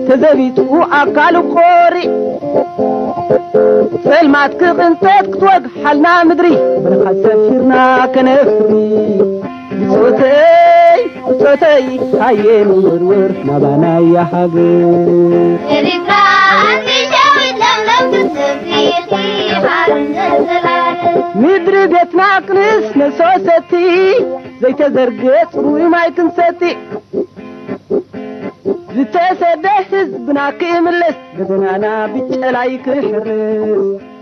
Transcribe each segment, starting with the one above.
ተዘቢጡ ኣካሉ ቆሪዕ፣ ጸልማት ክቕንጠጥ ክትወግሓልና ምድሪ፣ በረኻ ሰፊርና ከነፍሪ። ብጾተይ ብጾተይ ሃየ ንወርወር ናባናያ ሃገር። ኤሪትራ ኣንቲ ሸዊት ለምለም ክትሰፍሪ ኢኺ ሓርነት ዘላለም። ምድሪ ቤትና ክንስ ነሶሰቲ፣ ዘይተዘርገ ጽሩይ ማይ ክንሰቲ። ዝተሰደ ህዝብና ክምለስ፣ ገደናና ብጨላይ ክሕረስ።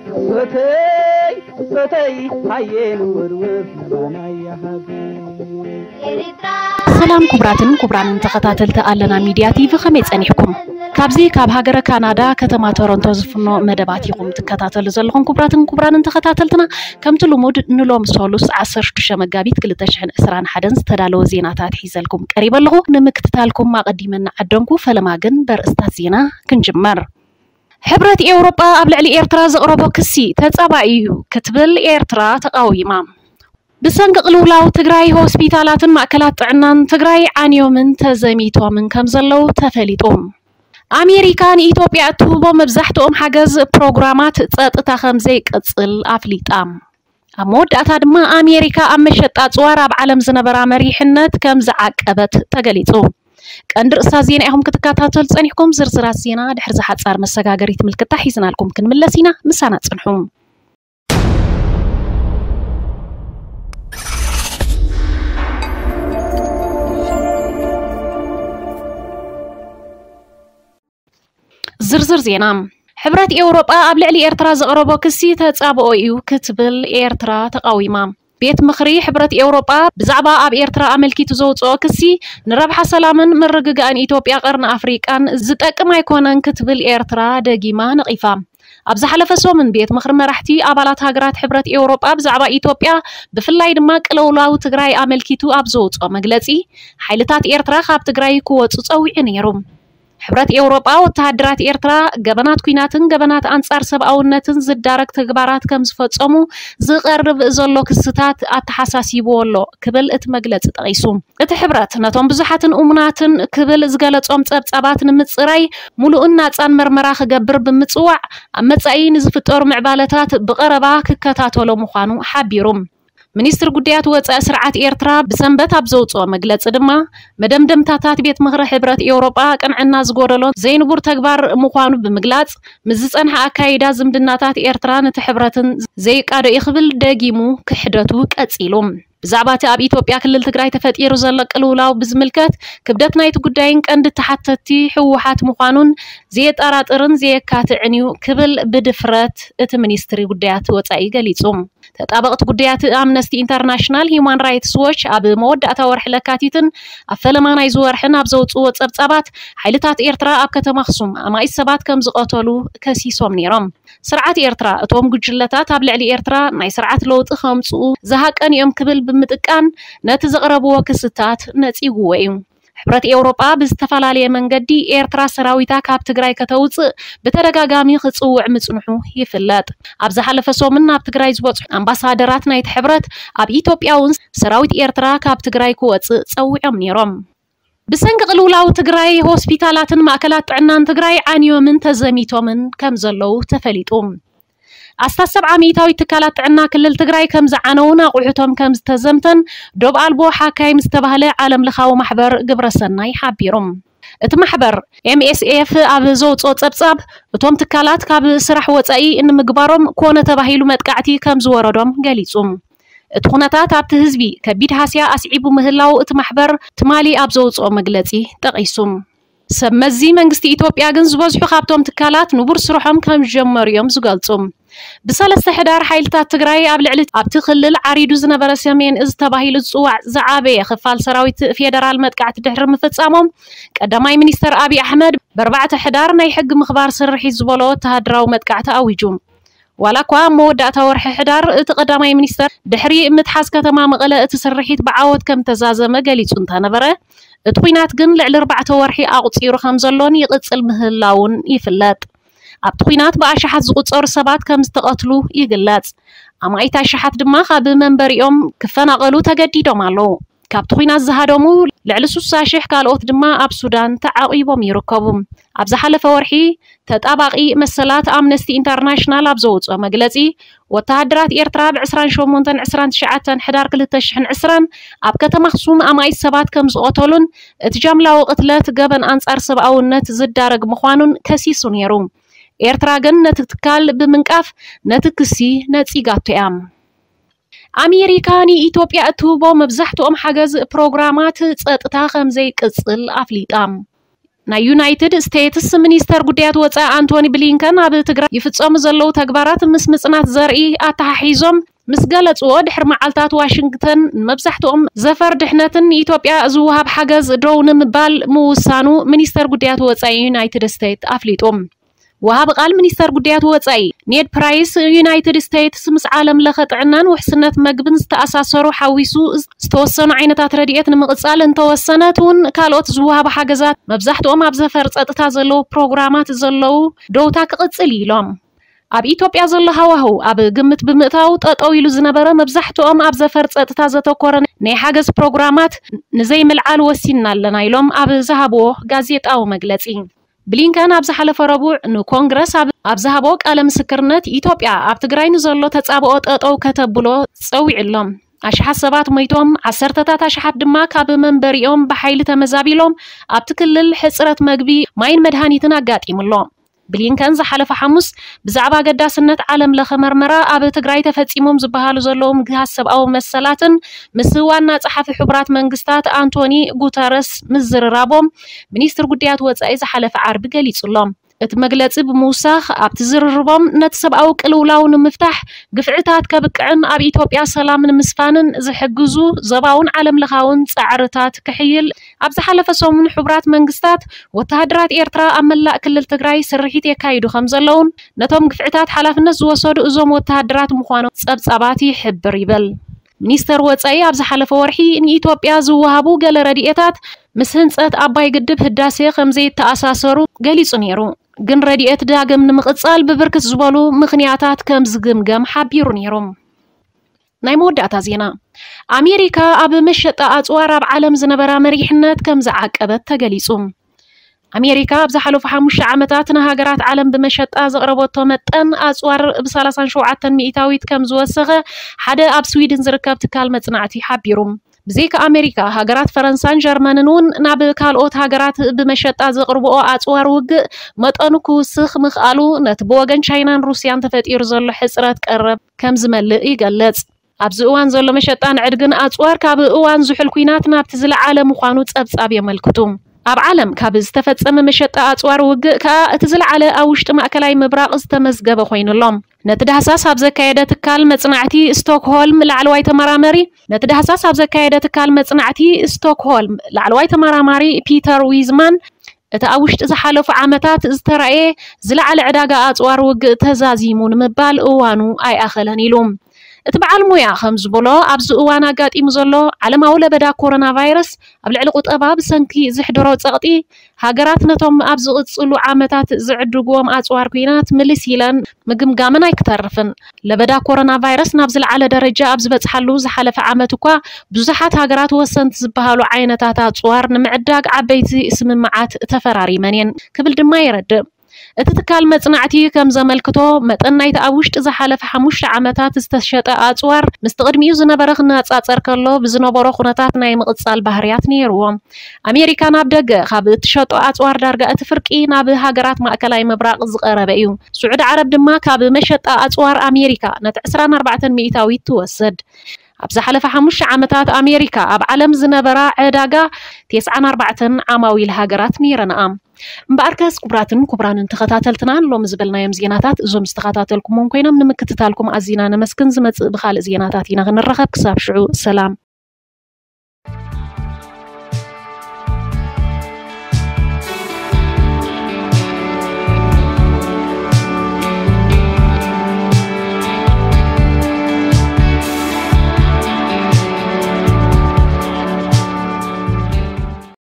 ብጾተይ ብጾተይ ሃየ ንወርወር ናባናያ ሃገር። ኤሪትራ። ሰላም ክቡራትን ክቡራንን ተኸታተልቲ ኣለና ሚድያ ቲቪ፣ ከመይ ጸኒሕኩም? ካብዚ ካብ ሃገረ ካናዳ ከተማ ቶሮንቶ ዝፍኖ መደባት ኢኹም ትከታተሉ ዘለኹም። ክቡራትን ክቡራንን ተኸታተልትና፣ ከምቲ ልሙድ ንሎም ሶሉስ ዓሰርተ ሽዱሽተ መጋቢት ክልተ ሽሕን ዕስራን ሓደን ዝተዳለወ ዜናታት ሒዘልኩም ቀሪበ ኣለኹ። ንምክትታልኩም ኣቐዲመ እናዓደምኩ፣ ፈለማ ግን በርእስታት ዜና ክንጅመር። ሕብረት ኤውሮጳ ኣብ ልዕሊ ኤርትራ ዘቕረቦ ክሲ ተጻባኢ እዩ ክትብል ኤርትራ ተቓዊማ። ብሰንኪ ቅልውላው ትግራይ ሆስፒታላትን ማእከላት ጥዕናን ትግራይ ዓንዮምን ተዘሚቶምን ከም ዘለዉ ተፈሊጡ። ኣሜሪካ ንኢትዮጵያ እትህቦ መብዛሕትኦም ሓገዝ ፕሮግራማት ጸጥታ ከም ዘይቅጽል ኣፍሊጣ። ኣብ መወዳእታ ድማ ኣሜሪካ ኣብ መሸጣ ጽዋር ኣብ ዓለም ዝነበራ መሪሕነት ከም ዝዓቀበት ተገሊጹ። ቀንዲ ርእሳ ዜና ኢኹም ክትከታተሉ ጸኒሕኩም። ዝርዝራት ዜና ድሕሪ ዝሓጻር መሰጋገሪት ምልክታ ሒዝናልኩም ክንምለስ ኢና። ምሳና ጽንሑ። ዝርዝር ዜና። ሕብረት ኤውሮጳ ኣብ ልዕሊ ኤርትራ ዘቕረቦ ክሲ ተጻብኦ እዩ ክትብል ኤርትራ ተቓዊማ። ቤት ምኽሪ ሕብረት ኤውሮጳ ብዛዕባ ኣብ ኤርትራ ኣመልኪቱ ዘውጽኦ ክሲ ንረብሓ ሰላምን ምርግጋእን ኢትዮጵያ፣ ቀርኒ ኣፍሪቃን ዝጠቅም ኣይኮነን ክትብል ኤርትራ ደጊማ ነቒፋ። ኣብ ዝሓለፈ ሰሙን ቤት ምኽሪ መራሕቲ ኣባላት ሃገራት ሕብረት ኤውሮጳ ብዛዕባ ኢትዮጵያ፣ ብፍላይ ድማ ቅልውላው ትግራይ ኣመልኪቱ ኣብ ዘውጽኦ መግለጺ፣ ሓይልታት ኤርትራ ካብ ትግራይ ክወጹ ጸዊዑ ነይሩ። ሕብረት ኤውሮጳ ወተሃደራት ኤርትራ ገበናት ኲናትን ገበናት ኣንጻር ሰብኣውነትን ዝዳረግ ተግባራት ከም ዝፈጸሙ ዝቐርብ ዘሎ ክስታት ኣተሓሳሲብዎ ኣሎ ክብል እቲ መግለጺ ጠቒሱ። እቲ ሕብረት ነቶም ብዙሓትን እሙናትን ክብል ዝገለጾም ጸብጻባት ንምጽራይ ምሉእን ናጻን መርመራ ክገብር ብምጽዋዕ፣ ኣብ መጻኢ ንዝፍጠሩ ምዕባለታት ብቐረባ ክከታተሎ ምዃኑ ሓቢሩ። ሚኒስትሪ ጉዳያት ወጻኢ ስርዓት ኤርትራ ብሰንበት ኣብ ዘውጽኦ መግለጺ ድማ፣ መደምደምታታት ቤት ምኽሪ ሕብረት ኤውሮጳ ቅንዕና ዝጎደሎ ዘይንቡር ተግባር ምዃኑ ብምግላጽ፣ ምስ ዝጸንሐ ኣካይዳ ዝምድናታት ኤርትራን እቲ ሕብረትን ዘይቃዶ እዩ ክብል ደጊሙ ክሕደቱ ቀጺሉ። ብዛዕባ እቲ ኣብ ኢትዮጵያ ክልል ትግራይ ተፈጢሩ ዘሎ ቅልውላው ብዝምልከት፣ ክብደት ናይቲ ጉዳይን ቀንዲ ተሓተቲ ህወሓት ምዃኑን ዘየጠራጥርን ዘየካትዕን እዩ ክብል ብድፍረት እቲ ሚኒስትሪ ጉዳያት ወጻኢ ገሊጹ። ተጣበቕቲ ጉዳያት ኣምነስቲ ኢንተርናሽናል፣ ሂዩማን ራይትስ ዎች ኣብ መወዳእታ ወርሒ ለካቲትን ኣብ ፈለማ ናይዚ ወርሕን ኣብ ዘውጽእዎ ጸብጻባት፣ ሓይልታት ኤርትራ ኣብ ከተማ ኣኽሱም ኣማኢት ሰባት ከም ዝቐተሉ ከሲሶም ነይሮም። ስርዓት ኤርትራ፣ እቶም ጉጅለታት ኣብ ልዕሊ ኤርትራ ናይ ስርዓት ለውጢ ከምጽኡ ዝሃቀኑ እዮም ክብል ብምጥቃን፣ ነቲ ዘቕረብዎ ክስታት ነጺግዎ እዩ። ሕብረት ኤውሮጳ ብዝተፈላለየ መንገዲ ኤርትራ ሰራዊታ ካብ ትግራይ ከተውጽእ ብተደጋጋሚ ክጽውዕ ምጽንሑ ይፍለጥ። ኣብ ዝሓለፈ ሰሙን ናብ ትግራይ ዝበጽሑ ኣምባሳደራት ናይቲ ሕብረት፣ ኣብ ኢትዮጵያ እውን ሰራዊት ኤርትራ ካብ ትግራይ ክወጽእ ጸዊዖም ነይሮም። ብሰንኪ ቅልውላው ትግራይ ሆስፒታላትን ማእከላት ጥዕናን ትግራይ ዓንዮምን ተዘሚቶምን ከም ዘለዉ ተፈሊጡ። ኣስታት ሰብዓ ሚእታዊት ትካላት ጥዕና ክልል ትግራይ ከም ዝዓነውን ኣቑሑቶም ከም ዝተዘምተን ዶብ ኣልቦ ሓካይም ዝተባህለ ዓለም ለኻዊ ማሕበር ግብረሰናይ ሓቢሩ። እቲ ማሕበር ኤምኤስኤፍ ኣብ ዘውፅኦ ፀብፃብ፣ እቶም ትካላት ካብ ስራሕ ወፃኢ ንምግባሮም ኮነ ተባሂሉ መጥቃዕቲ ከም ዝወረዶም ገሊፁ። እቲ ኩነታት ኣብቲ ህዝቢ ከቢድ ሃስያ ኣስዒቡ ምህላው እቲ ማሕበር ትማሊ ኣብ ዘውፅኦ መግለፂ ጠቒሱ። ሰብ መዚ መንግስቲ ኢትዮጵያ ግን ዝበዝሑ ካብቶም ትካላት ንቡር ስርሖም ከም ዝጀመሩ እዮም ዝገልጹ። ብሰለስተ ሕዳር ሓይልታት ትግራይ ኣብ ልዕሊ ኣብቲ ክልል ዓሪዱ ዝነበረ ሰሜን እዝ ተባሂሉ ዝጽዋዕ ዝዓበየ ክፋል ሰራዊት ፌደራል መጥቃዕቲ ድሕሪ ምፍጻሞም፣ ቀዳማይ ሚኒስተር ኣብይ ኣሕመድ ብኣርባዕተ ሕዳር ናይ ሕጊ ምኽባር ስርሒት ዝበሎ ወተሃደራዊ መጥቃዕቲ ኣዊጁ። ዋላ እኳ ኣብ መወዳእታ ወርሒ ሕዳር እቲ ቀዳማይ ሚኒስተር ድሕሪ ምትሓዝ ከተማ መቐለ እቲ ስርሒት ብዓወት ከም ተዛዘመ ገሊጹ እንተነበረ፣ እቲ ኲናት ግን ልዕሊ ኣርባዕተ ወርሒ ኣቑጺሩ ከም ዘሎን ይቕጽል ምህላውን ይፍለጥ። ኣብቲ ኲናት ብኣሽሓት ዝቑጸሩ ሰባት ከም ዝተቐትሉ ይግለጽ። ኣማኢት ኣሽሓት ድማ ካብ መንበሪኦም ክፈናቐሉ ተገዲዶም ኣለዉ። ካብቲ ኲናት ዝሃደሙ ልዕሊ ስሳ ሽሕ ካልኦት ድማ ኣብ ሱዳን ተዓቒቦም ይርከቡ። ኣብ ዝሓለፈ ወርሒ ተጣባቒ መሰላት ኣምነስቲ ኢንተርናሽናል ኣብ ዘውፅኦ መግለፂ፣ ወተሃደራት ኤርትራ ብ ዕስራን ሸሞንተን ዕስራን ትሽዓተን ሕዳር ክልተ ሽሕን ዕስራን ኣብ ከተማ ኣኽሱም ኣማኢት ሰባት ከም ዝቐተሉን እቲ ጃምላዊ ቅትለት ገበን ኣንጻር ሰብኣውነት ዝዳረግ ምዃኑን ከሲሱ ነይሩ። ኤርትራ ግን ነቲ ትካል ብምንቃፍ ነቲ ክሲ ነጺጋቶ እያ። ኣሜሪካ ንኢትዮጵያ እትህቦ መብዛሕትኦም ሓገዝ ፕሮግራማት ጸጥታ ከም ዘይቅጽል ኣፍሊጣ። ናይ ዩናይትድ ስቴትስ ሚኒስተር ጉዳያት ወጻኢ ኣንቶኒ ብሊንከን ኣብ ትግራይ ይፍጸሙ ዘለዉ ተግባራት ምስ ምጽናት ዘርኢ ኣተሓሒዞም ምስ ገለጽዎ፣ ድሕሪ መዓልታት ዋሽንግተን ንመብዛሕትኦም ዘፈር ድሕነትን ንኢትዮጵያ ዝወሃብ ሓገዝ ደው ንምባል ምውሳኑ ሚኒስተር ጉዳያት ወጻኢ ዩናይትድ ስቴትስ ኣፍሊጡ። ወሃቢ ቃል ሚኒስተር ጉዳያት ወጻኢ ኔድ ፕራይስ፣ ዩናይትድ ስቴትስ ምስ ዓለም ለኸ ጥዕናን ውሕስነት መግብን ዝተኣሳሰሩ ሓዊሱ ዝተወሰኑ ዓይነታት ረድኤት ንምቕጻል እንተወሰነት እውን፣ ካልኦት ዝወሃቡ ሓገዛት መብዛሕትኦም ኣብ ዘፈር ጸጥታ ዘለዉ ፕሮግራማት ዘለዉ ደውታ ክቕጽል እዩ ኢሎም። ኣብ ኢትዮጵያ ዘሎ ሃዋህው ኣብ ግምት ብምእታው፣ ጠጠው ኢሉ ዝነበረ መብዛሕትኦም ኣብ ዘፈር ጸጥታ ዘተኮረ ናይ ሓገዝ ፕሮግራማት ንዘይምልዓል ወሲንና ኣለና ኢሎም ኣብ ዝሃብዎ ጋዜጣዊ መግለጺ። ብሊንከን ኣብ ዝሓለፈ ረቡዕ ንኮንግረስ ኣብ፣ ኣብ ዝሃቦ ቃለ ምስክርነት፣ ኢትዮጵያ ኣብ ትግራይ ንዘሎ ተጻብኦ ጠጠው ከተብሎ ጸዊዑ ኣሎ። ኣሽሓት ሰባት ሞይቶም፣ ዓሰርተታት ኣሽሓት ድማ ካብ መንበሪኦም ብሓይሊ ተመዛቢሎም፣ ኣብቲ ክልል ሕጽረት መግቢ፣ ማይን መድሃኒትን ኣጋጢሙ ኣሎ። ብሊንከን ዝሓለፈ ሓሙስ ብዛዕባ ኣገዳስነት ዓለም ለኸ መርመራ ኣብ ትግራይ ተፈጺሞም ዝበሃሉ ዘለዉ ምግሃስ ሰብኣዊ መሰላትን ምስ ዋና ጸሓፊ ሕቡራት መንግስታት ኣንቶኒ ጉተረስ ምዝርራቦም ሚኒስትር ጉዳያት ወጻኢ ዝሓለፈ ዓርቢ ገሊጹ ኣሎ። እቲ መግለጺ ብምውሳኽ፣ ኣብቲ ዝርርቦም ነቲ ሰብኣዊ ቅልውላው ንምፍታሕ፣ ግፍዕታት ከብቅዕን ኣብ ኢትዮጵያ ሰላም ንምስፋንን ዝሕግዙ ዞባውን ዓለም ለኻውን ጻዕርታት ክሕይል፣ ኣብ ዝሓለፈ ሰሙን ሕቡራት መንግስታት ወተሃደራት ኤርትራ ኣብ መላእ ክልል ትግራይ ስርሒት የካይዱ ከም ዘለውን፣ ነቶም ግፍዕታት ሓላፍነት ዝወሰዱ እዞም ወተሃደራት ምዃኖም ጸብጻባት ይሕብር ይብል። ሚኒስተር ወጻኢ ኣብ ዝሓለፈ ወርሒ ንኢትዮጵያ ዝወሃቡ ገለ ረድኤታት ምስ ህንጸት ኣባይ ግድብ ህዳሴ ከም ዘይተኣሳሰሩ ገሊጹ ነይሩ። ግን ረድኤት ዳግም ንምቕጻል ብብርክት ዝበሉ ምኽንያታት ከም ዝግምገም ሓቢሩ ነይሩ። ናይ መወዳእታ ዜና። ኣሜሪካ ኣብ መሸጣ ኣጽዋር ኣብ ዓለም ዝነበራ መሪሕነት ከም ዝዓቀበት ተገሊጹ። ኣሜሪካ ኣብ ዝሓለፉ ሓሙሽተ ዓመታት ንሃገራት ዓለም ብመሸጣ ዘቕረበቶ መጠን ኣጽዋር ብ ሰላሳን ሸውዓተን ሚእታዊት ከም ዝወሰኸ ሓደ ኣብ ስዊድን ዝርከብ ትካል መጽናዕቲ ሓቢሩ። ብዘይካ ኣሜሪካ፣ ሃገራት ፈረንሳን ጀርመንን እውን ናብ ካልኦት ሃገራት ብመሸጣ ዘቕርብኦ ኣጽዋር ውግእ መጠኑ ክውስኽ ምኽኣሉ፣ ነቲ ብወገን ቻይናን ሩስያን ተፈጢሩ ዘሎ ሕጽረት ቀረብ ከም ዝመልእ ይገልጽ። ኣብዚ እዋን ዘሎ መሸጣን ዕድግን ኣጽዋር፣ ካብ እዋን ዝሑል ኲናት ናብቲ ዝለዓለ ምዃኑ ጸብጻብ የመልክቱ። ኣብ ዓለም ካብ ዝተፈጸመ መሸጣ ኣጽዋር ውግእ ከኣ እቲ ዝለዓለ ኣብ ውሽጢ ማእከላይ ምብራቕ ዝተመዝገበ ኮይኑ ኣሎ። ነቲ ዳህሳስ ኣብ ዘካየደ ትካል መጽናዕቲ ስቶክሆልም ላዕለዋይ ተመራመሪ፣ ነቲ ዳህሳስ ኣብ ዘካየደ ትካል መጽናዕቲ ስቶክሆልም ላዕለዋይ ተመራማሪ ፒተር ዊዝማን፣ እቲ ኣብ ውሽጢ ዝሓለፉ ዓመታት ዝተራእየ ዝለዓለ ዕዳጋ ኣጽዋር ውግእ ተዛዚሙ ንምባል እዋኑ ኣይኣኸለን ኢሉ። እቲ በዓል ሞያ ከም ዝበሎ፣ ኣብዚ እዋን ኣጋጢሙ ዘሎ ዓለማዊ ለበዳ ኮሮና ቫይረስ ኣብ ልዕሊ ቁጠባ ብሰንኪ ዝሕድሮ ጸቕጢ፣ ሃገራት ነቶም ኣብ ዝቕጽሉ ዓመታት ዝዕድግዎም ኣጽዋር ኲናት ምልስ ኢለን ምግምጋመን ኣይክተርፍን። ለበዳ ኮሮና ቫይረስ ናብ ዝለዓለ ደረጃ ኣብ ዝበጽሓሉ ዝሓለፈ ዓመት እኳ፣ ብዙሓት ሃገራት ወሰንቲ ዝበሃሉ ዓይነታት ኣጽዋር ንምዕዳግ ዓበይቲ ስምምዓት ተፈራሪመን እየን ክብል ድማ የረድእ። እቲ ትካል መጽናዕቲ ከም ዘመልክቶ፣ መጠን ናይቲ ኣብ ውሽጢ ዝሓለፈ ሓሙሽተ ዓመታት ዝተሸጠ ኣጽዋር ምስቲ ቅድሚኡ ዝነበረ ክነጻጸር ከሎ፣ ብዝነበሮ ኩነታት ናይ ምቕጻል ባህርያት ነይርዎ። ኣሜሪካ ናብ ደገ ካብ እትሸጦ ኣጽዋር ዳርጋ እቲ ፍርቂ ናብ ሃገራት ማእከላይ ምብራቕ ዝቐረበ እዩ። ስዑዲ ዓረብ ድማ ካብ መሸጣ ኣጽዋር ኣሜሪካ ነቲ ዕስራን ኣርባዕተን ሚእታዊት ትወስድ። ኣብ ዝሓለፈ ሓሙሽተ ዓመታት ኣሜሪካ ኣብ ዓለም ዝነበራ ዕዳጋ ተስዓን ኣርባዕተን ዓማዊል ሃገራት ነይረንኣ። እምበኣርከስ ክቡራትን ክቡራንን ተኸታተልትና፣ ሎሚ ዝበልናዮም ዜናታት እዞም ዝተኸታተልኩሞም ኮይኖም፣ ንምክትታልኩም ኣዚና ነመስግን። ዝመጽእ ብኻልእ ዜናታት ኢና ክንረኸብ። ክሳብ ሽዑ ሰላም።